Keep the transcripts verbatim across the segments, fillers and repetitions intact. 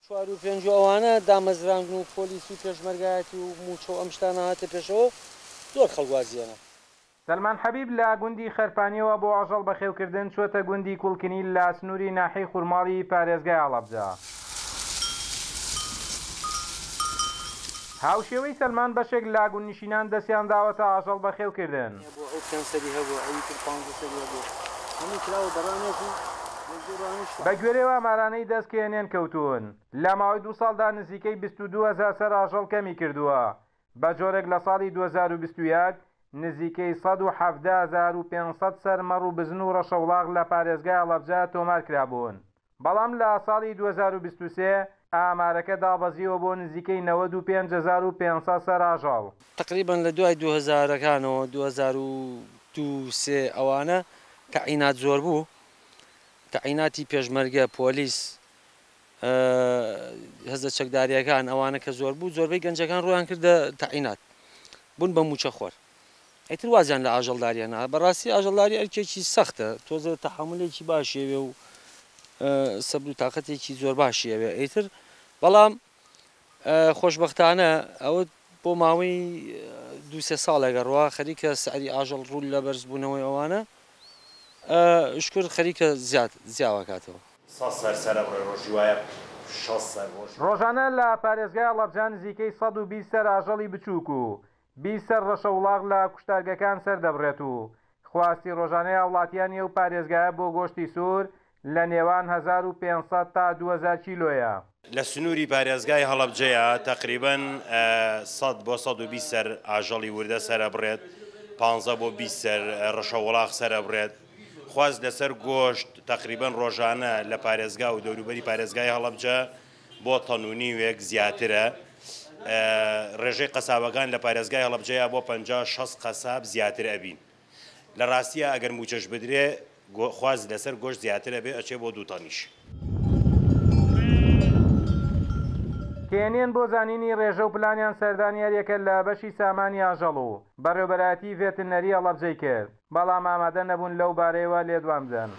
چوار و پێنج و ئەوانە دامەزراندن و پۆلیس و پێشمەرگایەتی و موچە و ئەم شتانە هاتە پێشەوە، زۆر خەڵک وازیانە. سەلمان حەبیب لە گوندی خەرپانیەوە بۆ ئاژەڵ بەخێوکردن چووەتە گوندی کوڵکنی لە سنووری ناحیەی خورماڵی پارێزگای هەڵەبجە. هاوشێوەی سەلمان بەشێک لە گوندنشینان دەستیان داوەتە ئاژەڵ بەخێوکردن. ئەو پێنج سەری هەبوو، ئەوی تر پانزە سەری هەبوو، هەموو کراوە بەڕانێک و بە گوێرەوە ئامارانەی دەست کێنێن کەوتون لە ماوەی دوو ساڵدا نزیکەی بیست و دوو هەزار سەر ئاژەڵ کەمی کردووە، بە جۆرێک لە ساڵی دوو هەزار و بیست و یەک نزیکەی سەد و حەفتا هەزار و پێنج سەد سەر مەڕ و بزن و ڕەشەوڵاغ لە پارێزگای هەڵەبجە تۆمار کرابوون، بەڵام لە ساڵی دوو هەزار و بیست و سێ ئامارەکە دابەزیوە بۆ نزیکەی نەوەد و پێنج هەزار و پێنج سەد سەر ئاژەڵ. تقریبا لە دوای دوو هەزارەکانەوە دوو هەزار و دوو سێ ئەوانە تەعینات زۆر بوو، تەعیناتی پێشمەرگە، پۆلیس، هەزە چەکداریەکان ئەوانە کە زۆر بوو، زۆربەی گەنجەکان ڕویان کردە تەعینات، بوون بە موچەخۆر. ئیتر وازیان لە ئاژەڵداریانە. بەڕاستی ئاژەڵداری ئەرکێکی سەختە، تۆزە تەحەمولێکی باشیەوێ و سەبر و تاقەتێکی زۆر باشیەوێ. ئیتر بەڵام خۆشبەختانە ئەوە بۆ ماوەی دوو سێ ساڵێکە ڕوا خەریکە سعری ئاژەڵ ڕوو لە بەرزبوونەوەی ئەوانە شکر خەریکە زیاد زیاوەکاتەوە. سەد سەر سەرە بڕێ ڕۆژی وایە شەست سەر ڕۆژ. ڕۆژانە لە پارێزگای هەڵەبجە نزیکەی سەد و بیست سەر ئاژەڵی بچووک و بیست سەر ڕەشەوڵاغ لە کوشتارگەکان سەر دەبڕێت و خواستی ڕۆژانەی هاوڵاتیانی ئەو پارێزگایە بۆ گۆشتی سوور لە نێوان هەزار و پێنج سەد تا دوو هەزار کیلۆیە. لە سنووری پارێزگای هەڵەبجەیە تقریباً سەد بۆ سەد و بیست سەر ئاژەڵی وردە سەرە بڕێت، پانزە بۆ بیست سەر ڕەشەوڵاغ سەرە بڕێت. خواست لەسەر گۆشت تقریباً ڕۆژانە لە پارێزگا و دەوروبەری پارێزگای هەڵەبجە بۆ تەن و نیوێک زیاترە. ڕێژەی قەسابەکان لە پارێزگای هەڵەبجەیە بۆ پەنجا شەست قەساب زیاتر ئەبین. لە ڕاستیە ئەگەر موچەش بدرێ خواست لەسەر گۆشت زیاترە بێ ئەچێ بۆ دوو تەنیش. کێنێن بۆ زانینی ڕێژە و پلانیان سەردانیاریەکە لە بەشی سامانی ئاژەڵ و بەڕێوبەرایەتی ڤێترنەری هەڵەبجەی کرد، بەڵام ئامادە نەبوون لەو بارەیەوە لێدوان بدەن.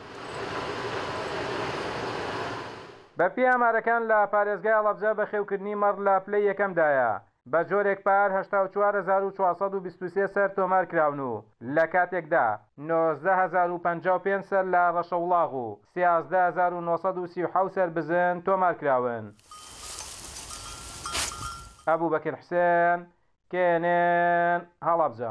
بەپێی ئامارەکان لە پارێزگای هەڵەبجە بەخێوکردنی مەڕ لە پلەی یەکەمدایە، بە جۆرێک پار هەشتا و چوار هەزار و چوار سەد و بیست و سێ سەر تۆمار کراون و لە کاتێکدا نۆزدە هەزار و پەنجا و پێنج سەر لە ڕەشەوڵاغ و سیازدە هەزار و نۆ سەد و سی و حەوت سەر بزن تۆمار کراون. ئەبوبەکر حوسێن، کێنێن، هەڵەبجە.